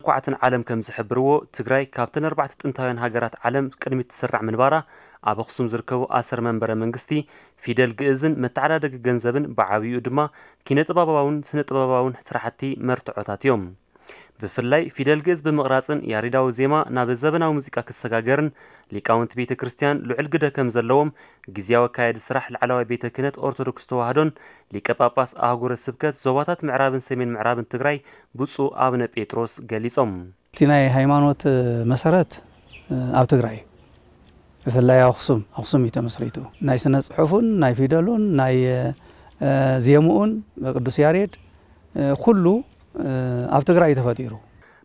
መኩዓትን ዓለም ከም ዝሕብርዎ፣ ትግራይ ካብተን ኣርባዕተ ጥንታውያን ሃገራት ዓለም ቅድሚት ትስራዕ ምንባራ፣ ኣብ ኣኽሱም ዝርከቡ ኣሰር መንበረ መንግስቲ ፊደል ግእዝን መተዓዳደጊ ገንዘብን ብዓብይኡ ድማ ኪነ ጥበባውን ስነ ጥበባውን ስራሕቲ መርትዖታት እዮም። ብፍላይ ፊደል ግእዝ ብምቕራጽን ያሬዳዊ ዜማ ናብ ዘበናዊ ሙዚቃ ክሰጋገርን ሊቃውንቲ ቤተ ክርስቲያን ልዑል ግደ ከም ዘለዎም ግዝያዊ ኣካያዲ ስራሕ ላዕለዋይ ቤተ ክህነት ኦርቶዶክስ ተዋህዶን ሊቀ ጳጳስ ኣህጉረ ስብከት ዞባታት ምዕራብን ሰሜን ምዕራብን ትግራይ ብፁዕ ኣቡነ ጴጥሮስ ገሊጾም። እቲ ናይ ሃይማኖት መሰረት ኣብ ትግራይ እዩ። ብፍላይ ኣብ ኣኽሱም፣ ኣኽሱም እዩ ተመስሪቱ። ናይ ስነ ጽሑፉን ናይ ፊደሉን ናይ ዜምኡን ቅዱስ ያሬድ ኩሉ ኣብ ትግራይ እዩ ተፈጢሩ።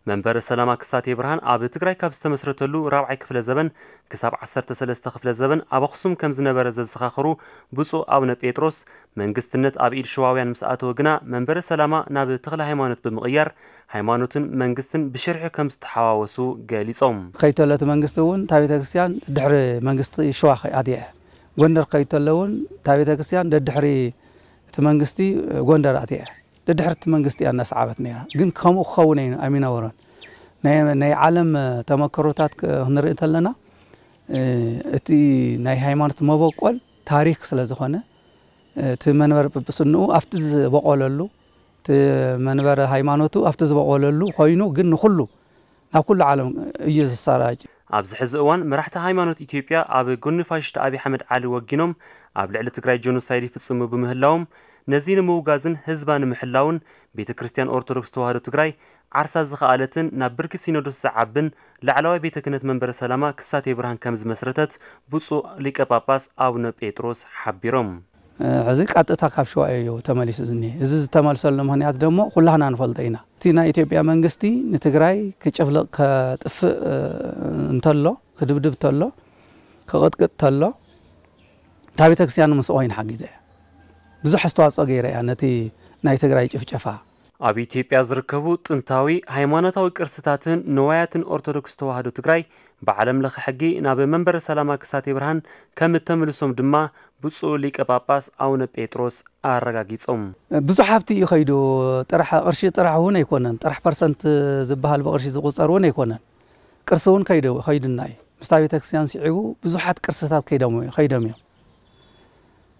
መንበረ ሰላማ ክሳቴ ብርሃን ኣብ ትግራይ ካብ ዝተመስረተሉ ራብዓይ ክፍለ ዘበን ክሳብ ዓሰርተ ሰለስተ ክፍለ ዘበን ኣብ ኣኽሱም ከም ዝነበረ ዘዘኻኸሩ ብፁዕ ኣቡነ ጴጥሮስ፣ መንግስትነት ኣብ ኢድ ሽዋውያን ምስ ኣተወ ግና መንበረ ሰላማ ናብ ተኽለ ሃይማኖት ብምቕያር ሃይማኖትን መንግስትን ብሽርሒ ከም ዝተሓዋወሱ ገሊጾም። ከይተሎ እቲ መንግስቲ እውን እታ ቤተ ክርስቲያን ድሕሪ መንግስቲ ሽዋ ኣትያ። ጎንደር ከይተሎ እውን እታ ቤተ ክርስቲያን ደድሕሪ እቲ መንግስቲ ጎንደር ኣትያ። ደድሕርቲ መንግስቲ እያ እናሰዓበት ነይራ። ግን ከምኡ ክኸውን ኣይ-፣ ኣይምነበሮን። ናይ፣ ናይ ዓለም ተመክሮታት ክ-፣ ክንርኢ እንተለና፣ እ፣ እቲ ናይ ሃይማኖት መበቆል ታሪክ ስለ ዝኾነ፣ እቲ መንበረ ጵጵስንኡ ኣብቲ ዝበቆለሉ፣ እቲ መንበረ ሃይማኖቱ ኣብቲ ዝበቆለሉ ኮይኑ፣ ግን ንኹሉ፣ ናብ ኩሉ ዓለም እዩ ዝሰራጭ። ኣብዚ ሕዚ እዋን መራሕቲ ሃይማኖት ኢትዮጵያ ኣብ ጎኒ ፋሽስት ኣብይ ኣሕመድ ዓሊ ወጊኖም ኣብ ልዕሊ ትግራይ ጀኖሳይድ ይፍጽሙ ብምህላዎም፣ ነዚ ንምውጋዝን ህዝባ ንምሕላውን ቤተ ክርስቲያን ኦርቶዶክስ ተዋህዶ ትግራይ ዓርሳ ዝኸኣለትን ናብ ብርኪ ሲኖዶስ ዝዓብን ላዕለዋይ ቤተ ክህነት መንበረ ሰላማ ክሳቴ ብርሃን ከም ዝመስረተት ብፁዕ ሊቀ ጳጳስ ኣቡነ ጴጥሮስ ሓቢሮም። ሕዚ ቀጥታ ካብ ሸዋ እዩ ተመሊሱ ዝኒሀ። እዚ ዝተመልሰሉ ምኽንያት ደሞ ኩላህና ንፈልጦ ኢና። እቲ ናይ ኢትዮጵያ መንግስቲ ንትግራይ ክጭፍልቕ፣ ከጥፍእ፣ እ፣ እንተሎ፣ ክድብድብ ተሎ፣ ክቕጥቅጥ ተሎ፣ እታ ቤተክርስትያን ምስ ኮይን ሓጊዘ እያ። ብዙሕ ኣስተዋፅኦ ገይረ እያ ነቲ ናይ ትግራይ ጭፍጨፋ። ኣብ ኢትዮጵያ ዝርከቡ ጥንታዊ ሃይማኖታዊ ቅርስታትን ንዋያትን ኦርቶዶክስ ተዋህዶ ትግራይ ብዓለም ለኸ ሕጊ ናብ መንበረ ሰላማ ክሳቴ ብርሃን ከም እተምልሶም ድማ ብፁዕ ሊቀ ጳጳስ ኣቡነ ጴጥሮስ ኣረጋጊጾም። ብዙሕ ሃብቲ እዩ ከይዱ። ጥራሕ ቅርሺ ጥራሕ እውን ኣይኮነን። ጥራሕ ፐርሰንት ዝበሃል ብቅርሺ ዝቁጸር እውን ኣይኮነን። ቅርሲ እውን ከይዱ፣ ከይዱና እዩ። ምስታ ቤተክርስትያን ስዒቡ ብዙሓት ቅርስታት ከይዶም፣ ከይዶም እዮም።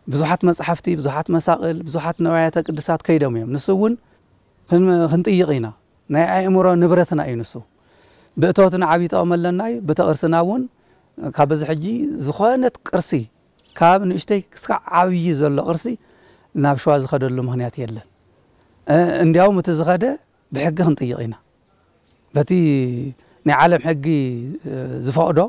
ብዙሓት መጻሕፍቲ፣ ብዙሓት መሳቕል፣ ብዙሓት ነዋያተ ቅድሳት ከይዶም እዮም። ንሱ እውን ክን-፣ ክንጥይቕ ኢና። ናይ ኣእምሮ ንብረትና እዩ ንሱ። ብእቶትና ዓብዪ ጠቕሚ ኣለና እዩ። ብቲ ቅርስና እውን ካብ በዚ ሕጂ ዝኾነት ቅርሲ፣ ካብ ንእሽተይ ክሳዕ ዓብዪ ዘሎ ቅርሲ ናብ ሸዋ ዝኸደሉ ምኽንያት የለን። እ፣ እንዲያውም እቲ ዝኸደ ብሕጊ ክንጥይቕ ኢና። በቲ ናይ ዓለም ሕጊ፣ እ፣ ዝፈቕዶ